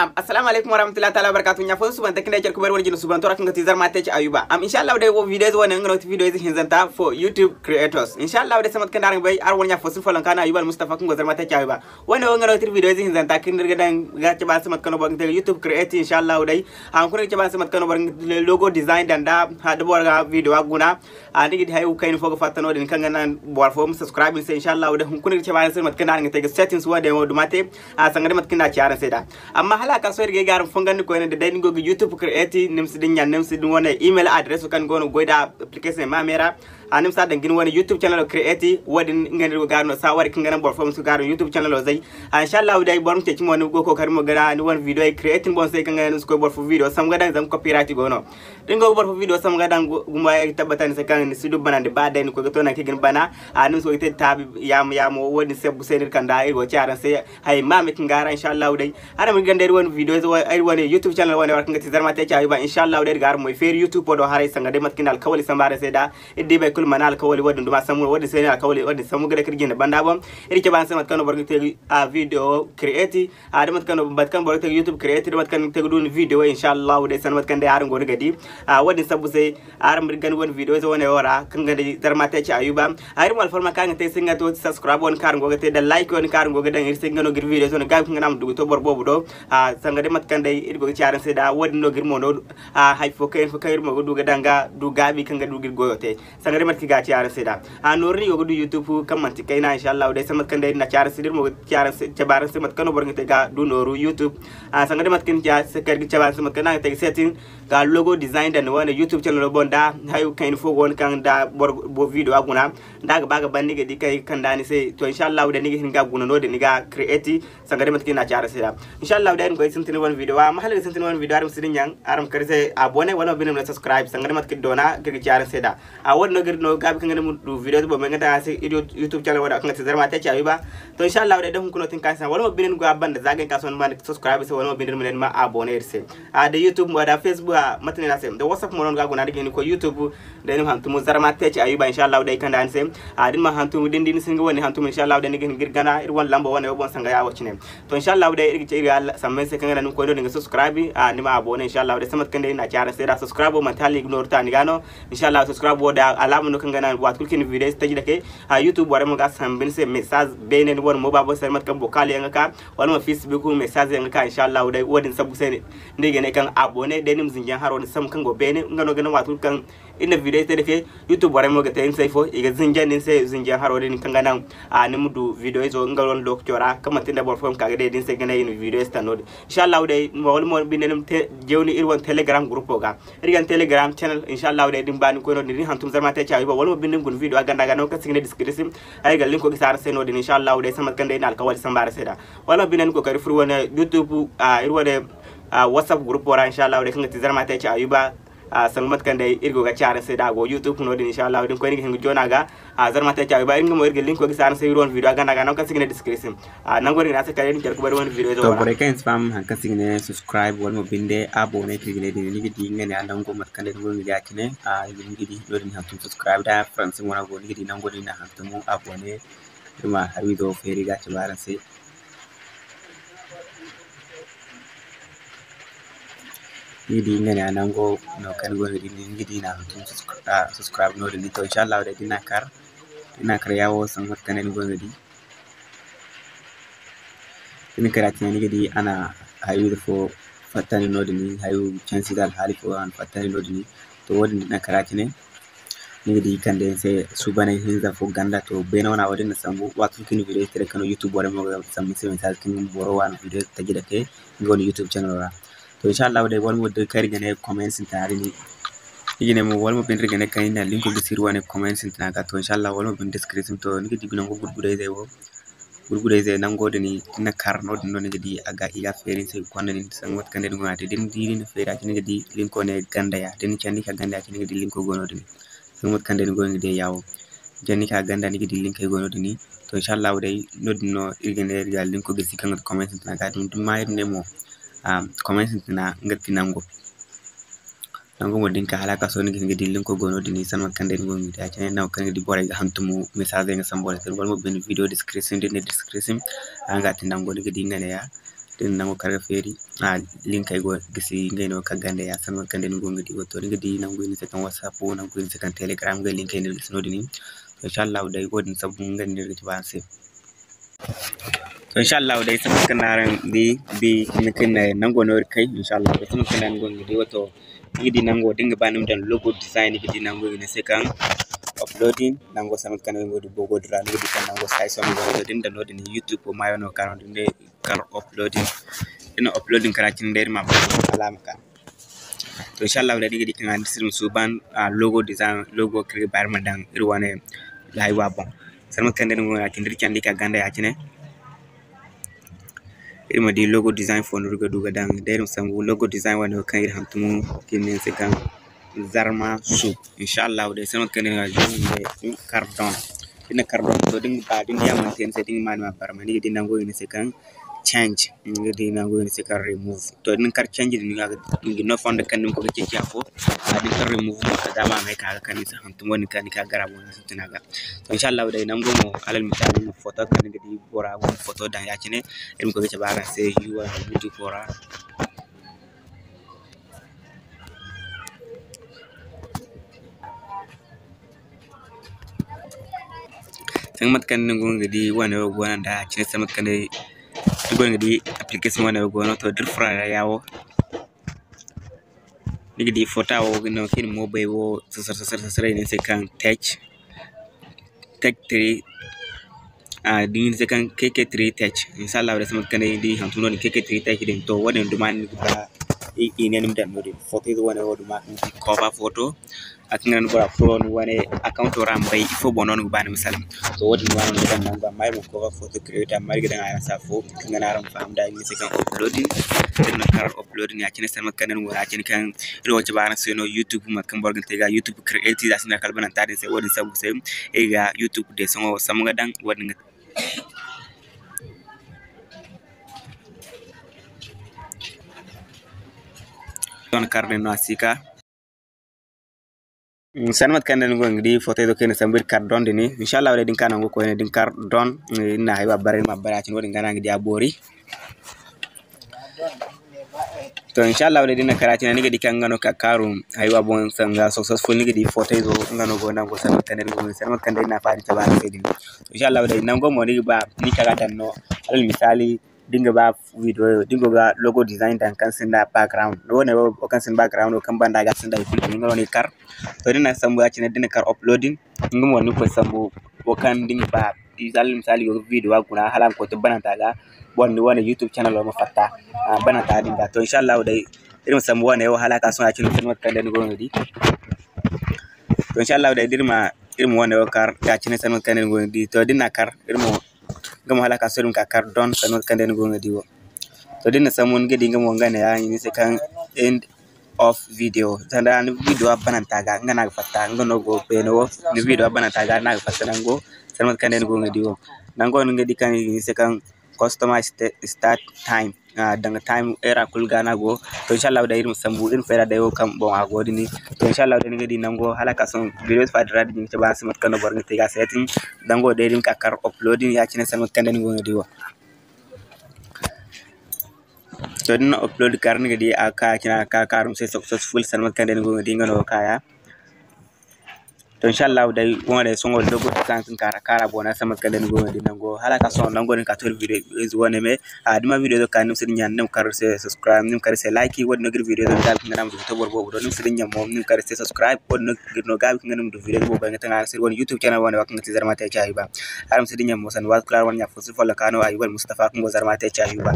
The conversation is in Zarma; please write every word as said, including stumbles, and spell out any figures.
Am, assalamu alaikum warahmatullahi ta'ala wabarakatuh. Ɲa fo suban ta kinde cer kubar wala jina suban to ra kaŋ ga ti Zarma Tech Ayuba. Am, inshallah day wo video ize wane nga no ti video ize hinzanta for YouTube creators. Inshallah day samay kaŋ day araŋ ga bay araŋ wane ɲa fo sin folloŋ kaŋ Ayuba Al Mustafa kaŋ go Zarma Tech Ayuba. Wane wo nga no ti video ize hinzanta kaŋ iri ga daŋ ga cabe araŋ se mate kaŋ no boro ga te ga YouTube create inshallah day. Haŋ kulu iri ga cabe araŋ se mate kaŋ no boro ga te logo design daŋ da ha da boro ga video a guna. A, ni ga di hayo kayna fo ga fatta no-din kaŋ ga naŋ boro fo ma subscribe ni se, inshallah day hunkuna iri ga cabe araŋ se mate kaŋ no araŋ ga te ga settings wo day wo duma te. A, sanga day mate kaŋ no a ci araŋ se da. Amma hala a ka sohõ iri ga ay ga araŋ fongandi koyne da day ni go ga YouTube create, ni ma si din ɲa, ni ma si din wane email address kaŋ ni go no ga goy da application ma me ra. A, ni ma si a daŋ ga ni wane YouTube channel create, wo-din nga no iri go ga araŋ no saawari kaŋ ga naŋ boro fo ma si ga araŋ YouTube channel zay. A, inshallah day boro ma ceeci mo ni go ga kookari mo ga ni wane video create ni boŋ se kaŋ ga naŋ ni si koy boro fo video sambu ga daŋ zama copyright go no. Da ni go ga boro fo video sambu ga daŋ gu-, gumo ay ga tabbata ni se kaŋ ni si du banandi ba day ni koy ga to nangu kaŋ i ga ni bana. A, ni ma si koy ga te taabi yaamo yaamo wo-din se bu se no iri kand'a iri go ga ci araŋ se. Hay, ma me kaŋ ga ra, inshallah day. Araŋ ma ganda iri wane video ize wo, iri wane YouTube channel wane wo ra kaŋ ga ti Zarma Tech Ayuba, inshallah day iri ga araŋ moy feeri YouTube wo do haray sanga day mate kaŋ iri na alkawali sambu araŋ se da. Iri di boro kulu mana alkawali wo-din duma sambu no, wo-din se no alkawali, wo-din sambu ga day kaŋ iri jinde banda boŋ. Iri ga cabe araŋ se mate kaŋ no boro ga te, a, video create, a, da mate kaŋ no, mate kaŋ boro ga te ga YouTube create, da mate kaŋ ni ga te ga du ni video, inshallah day sanda mate kaŋ day araŋ go no ga di. A, wo-din sambu se, araŋ ma iri gana wane video ize wane wo ra kaŋ ga day Zarma Tech Ayuba. A, iri mo alfarma kaŋ araŋ ga te ay se nga to subscribe wane kaŋ araŋ go ga te da like wane kaŋ araŋ go ga daŋ iri se nga no ga iri video ize wane gaabi kaŋ ga naŋ a ma du ga to boro boobo do. A, sanga day mate kaŋ day iri go ga ci araŋ se da wo-din no ga iri mo no, a, hay fo kayna fo kaŋ iri mo ga du ga daŋ ga du gaabi kaŋ ga du ga iri goyo te. Sanga day mate kaŋ i ga ci araŋ se da. A, nooru no i go ga du YouTube kaŋ manti kayna, inshallah day sanda mate kaŋ day iri na ci araŋ se da iri mo ga ci araŋ se, cabe araŋ se mate kaŋ no boro ga te ga du nooru YouTube. A, sanga day mate kaŋ iri ga cabe araŋ se mate kaŋ no a ga te ga setting ga logo design daŋ ni wane YouTube channel boŋ da hayo kayna fo go no kaŋ da boro, boro video a guna. Da a ga ba ga ban ni ga di kaŋ i ga kand'a ni se. To, inshallah day ni ga hin ga guna no-din ni ga create. Sanga day mate kaŋ i na a ci araŋ se da. Inshallah day iri ma koy sintin wane video. Amma hala ga sintin wane video araŋ ma si din ɲaŋ, araŋ ma kar iri se abonné wala ma binde ma ne subscribe. Sanga day mate kaŋ iri doona kaŋ iri ga ci araŋ se da. A, wo-din no ga iri no gaabi kaŋ ga naŋ iri ma du video ize boŋ me nga daŋ araŋ se YouTube channel wo da kaŋ ga ti Zarma Tech Ayuba. To, inshallah day da hunkuna no tin ka se wala ma binde ni go a banda za ga hin ka sohõ ni ma ne subscribe se wala ma binde ni ma ne ni ma abonné iri se. A, da YouTube mo da Facebook, a, mate no ni a se da WhatsApp mo no ni ga guna ni ga hin koy YouTube. Day ni ma hantum Zarma Tech Ayuba, inshallah day kand'a ni se. A, da ni ma hantum, da ni di ni si hin ga wane hantum, inshallah day ni ga hin ga iri gana iri wane lambo wane wo boŋ sanga ya wo cine. To, inshallah day iri ga ce iri ga samba ni se kaŋ ga naŋ ni koy no-din ga subscribe, a, ni ma abonné, inshallah day sanda mate kaŋ day iri na a ci araŋ se da subscribe wo manti hala i ga nooru ta ni ga no. Inshallah subscribe wo da alaama no kaŋ ga naŋ waati kulu kaŋ iri na video ize taji dake. A, YouTube borey mo ga samba ni se message beene ni wane mo baabo se mate kaŋ vocal yaŋ ga ka wala mo Facebook message yaŋ ga ka, inshallah day wo-din sambu se no iri ga ne kaŋ abonné day ni ma zinjiyaŋ haro din sambu kaŋ go beene nga no ga naŋ waati kulu kaŋ iri na video ize te dake YouTube borey mo ga te ni se ifo i ga zinjiyaŋ ni se zinjiyaŋ haro din kaŋ ga naŋ, a, ni ma du video izo nga wane lokaco ra kaŋ manti nda boro fo ma ka ga day da ni se ga ne i na video ize taŋ no-din. Inshallah day wala mo binde ni ma te jawni iri wane Telegram groupo ga. Iri ga ni Telegram channel, inshallah day da ni ba ni koy no-din da ni hantum Zarma Tech Ayuba wala mo binde ni guna video a ganda ga nango kaŋ se i ga ne description. Ay ga linko gisi araŋ se no-din, inshallah day sanda mate kaŋ day iri na alkawali samba araŋ se da. Wala mo binde ni kookari furo iri wane YouTube, a, iri wane, a, WhatsApp groupo ra, inshallah day kaŋ ga ti Zarma Tech Ayuba. A, sanda mate kaŋ day iri go ga ci araŋ se da a go YouTube no-din, inshallah da ni koy ni ga hin ga joona ga. A, Zarma Tech Ayuba iri nga mo iri ga linko gisi araŋ se iri wane video a ganda ga nango kaŋ se i ga ne description. A, nango din ga naŋ a se kala iri ma care ga bari wane video izo. To, borey kaŋ yaŋ si faham hari kaŋ se i ga ne subscribe wala mo binde abonné kaŋ i ga ne din, ni ga di nga ne a nango mate kaŋ day ni go ga di a cine. A, ni ga di no-din hantum subscribe da français mo no a go, ni ga di nango din a hantum abonné. Iri ma hari izo feeri ga cabe araŋ se. Ni ga di nga ne a nango no kaŋ ni go ga di, ni ga di na hantum subscri-, a, subscribe no-din. To, inshallah day da ni na kar, da ni na kar ya wo sanda mate kaŋ day ni go ga di. Da ni kar a cine ni ga di a na hayo ize fo fatta ni no-din, hayo cansi da alhaali fo a na fatta ni no-din. To, wo-din da ni na kar a cine. Ni ga di kande ni se suubanay hinza fo ganda. To, beene wane wo-din na sambu waati kulu kaŋ ni video ize te day kaŋ no YouTube borey mo ga sambu ni se message kaŋ boro wane video ize taji dake nga wane YouTube channel ra. To, inshallah day wala mo da kay iri ga ne comment sintina din, iri ga ne mo wala mo binde iri ga ne kaŋ iri na linko gisi iri wane comment sintina ga. To, inshallah wala mo binde description. To, ni ga di nango gurgudayzey wo, gurgudayzey nango din ni na kar no-din no ni ga di a ga, i ga feeri ni se ga konda nin sanga mate kaŋ day ni go no a te. Da ni di ni na feeri a cine ni ga di linko ne ganda ya, da ni candi ka ganda ya cine ni ga di linko go no-din. Sanga mate kaŋ day ni go no ni ga di ya wo. Candi ka ganda ni ga di linkey go no-din. To, inshallah day no-din no iri ga ne iri ga linko gisi kaŋ ga ti comment sintina ga. Da ni ma iri ne mo, a, comment sintina nga ti nango. Nango mo da ni ka hala a ka sohõ ni ga hin ga di linko go no-din, sanda mate kaŋ day ni go ga di a cine nango kaŋ ni ga di borey ga hantumo message nga sambu borey se. Wala mo binde video description da ni ne description, a nga ti nango ni ga di nga ne ya. Da ni na nango kaŋ ga feeri, a, linkey go gisi, ngey no kaŋ ganda ya, sanda mate kaŋ day ni go ga di wo. To, ni ga di nango i ne se kaŋ WhatsApp, nango i ne se kaŋ Telegram, ngey linkey no gisi noodin. To, inshallah day, wo-din sambu nga no iri ga ci ba araŋ se. To, inshallah day, sanda mate kaŋ no araŋ di, bi, ni ga ne nango no iri kay, inshallah day, sanda mate kaŋ no ni go ga di wo. To, ni ga di nango, da ni ga ba ni ma daŋ logo design, ni ga di nango i ne se kaŋ uploading, nango sanda mate kaŋ no ni go ga di boobo din ra, ni ga di kaŋ nango size no go no, da ni daŋ noodin YouTube wo maayo no ga ka no, da ni kar uploading. Da ni na uploading kar a cine day, iri ma ba hala a ma ka. To, inshallah day, ni ga di kaŋ a ni sirma suuban, a, logo design, logo kaŋ iri ga ba iri ma daŋ iri wane haywa boŋ. Sanda mate kaŋ day ni go ga di a cine, da iri candi ka ganda ya cine. Iri ma di logo design fo no iri ga du ga daŋ. Day iri ma sambu logo design wane wo kaŋ iri hantumo, kaŋ iri ne ni se kaŋ Zarma Sub. Inshallah day, sanda mate kaŋ day ni ga di, ni ga kar don. Da ni na kar don, to, da ni ga ba, da ni di a mana te ni se, da ni ga ma, ni ma barmay, ni ga di nango i ne ni se kaŋ change. Ni ga di nango i ne ni se kaŋ remove. To, da ni kar change din, ni ga, ni ga no fondo kaŋ ni ma koy ga ceeci afo. A, da ni kar remove mo, kala da a ma may ka ga kande ni se hantum, wo-din kaŋ ni ka gara boŋ, ni sintin a ga. To, inshallah day, nango mo, alal misali, photo kaŋ ni ga di bora go photo daŋ ya cine, iri ma koy ga cabe araŋ se, iri wane YouTube wo ra. Sanda mate kaŋ ni go ga di wane wo go no nda cine, sanda mate kaŋ day ni go ga di application wane wo go no. To, da iri furo a ra ya wo, ni ga di photo wo ga no kaŋ iri mo bay wo sasar, sasar, sasar, i ne ni se kaŋ tech, tech three, a, da ni se kaŋ K K three tech. Inshallah day, sanda mate kaŋ day ni di hantum no din K K three tech din. To, wo-din duma ni ga ba i, i ne ni ma daŋ no din. Photo ize wane wo duma ni di cover photo. A kaŋ ga naŋ bora furo ni wane account ra ma bay ifo boŋ no ni ga ba ni ma salaŋ. To, wo-din duma no ni ga daŋ nangu, amma iri ma cover photo create, amma iri ga daŋ araŋ se afo kaŋ ga naŋ araŋ ma faham da i ma se kaŋ uploading. Iri ma kar uploading ya cine, sanda mate kaŋ day ni go ya cine kaŋ iri wo ga cabe araŋ se no YouTube, mate kaŋ boro ga te ga YouTube create, za sinda kala bananta din se, wo-din sambu se iri ga YouTube de sohõ sambu ga daŋ, wo-din ga. Sohõ kar din no a si ka. Mm, sanda mate kaŋ day ni go ga di photo izo kaŋ iri na sambu iri kar don din. Inshallah day, da ni ka nango koyne, da ni kar don, eh, iri na haywa bare, iri ma bare a cine, wo-din ga no araŋ ga di a boori. To, inshallah day, da ni na kar a cine, ni ga di kaŋ nga no ka kaaru haywa boŋ sanga successful, ni ga di photo izo nga no go nango, sanda mate kaŋ day ni go ga di, sanda mate kaŋ day iri na faani cabe araŋ se din. Inshallah day, nango mo ni ga ba ni ka ga daŋ no, alal misali, da ni ga ba video, da ni go ga logo design daŋ kaŋ sinda background. Wo-ne wo kaŋ sinda background, wo kaŋ banda ga sinda hay kulu, nga no ni kar. To, da ni na sambu ya cine, da ni na kar uploading, nga mo ni koy sambu wo kaŋ da ni ga ba, misali, misali, go ga video a guna, hala a ma koy to bananta ga, boro ni wane YouTube channel wo ma fatta, a, bananta din ga. To, inshallah day, iri ma sambu wane wo hala a ka sohõ ya cine, sanda mate kaŋ day ni go ga di. To, inshallah day, da iri ma, iri ma wane wo kar ya cine, sanda mate kaŋ day ni go ga di. To, da ni na kar, iri mo, nga mo hala a ka sohõ iri ma ka kar don, sanda mate kaŋ day ni go ga di wo. To, da ni na sambu, ni ga di nga mo nga ne ya, i ne ni se kaŋ end of video. Sanda ni video a bananta ga, nga no a ga fatta, nga no go beene wo, ni video a bananta ga, no a ga fatta nango, sanda mate kaŋ day ni go ga di wo. Nango no ni ga di kaŋ i ne ni se kaŋ customize sta-, start time. Ah, danga time era kulu ga no a go. To, inshallah day, iri ma sambu, iri ma fayda day wo kaŋ boŋ a go din. To, inshallah day, ni ga di nango hala a ka sohõ video fa din ra, din ga cabe araŋ se mate kaŋ no boro ga te ga setting. Nango day, da ni ka kar uploading ya cine, sanda mate kaŋ day ni go ga di wo. To, da ni na upload kar, ni ga di a ka cine, a ka kaaru se successful, sanda mate kaŋ day ni go ga di, nga no ga ka ya. To, inshallah day, wo-ne day, sohõ logo kaŋ, kaŋ kara, kara boŋ, sanda mate kaŋ day ni go ga di nango. Hala a ka sohõ nango din ka to video ize wane me. A, da ni ma video izo ka, ni ma si dinya, ni ma kar se subscribe, ni ma kar se like, wo-din no ga iri video izo gaabi kaŋ ga naŋ ma du to boro boobo do, ni ma si dinya mo, ni ma kar se subscribe, wo-din no ga iri no gaabi kaŋ ga naŋ ma du video izo boobo kaŋ ga taŋ araŋ se iri wane YouTube channel wane wo kaŋ ga ti Zarma Tech Ayuba. Araŋ ma si dinya mo sanda waati kulu araŋ wane ɲa fo si follow ka no Ayuba Mustafa kaŋ go Zarma Tech Ayuba.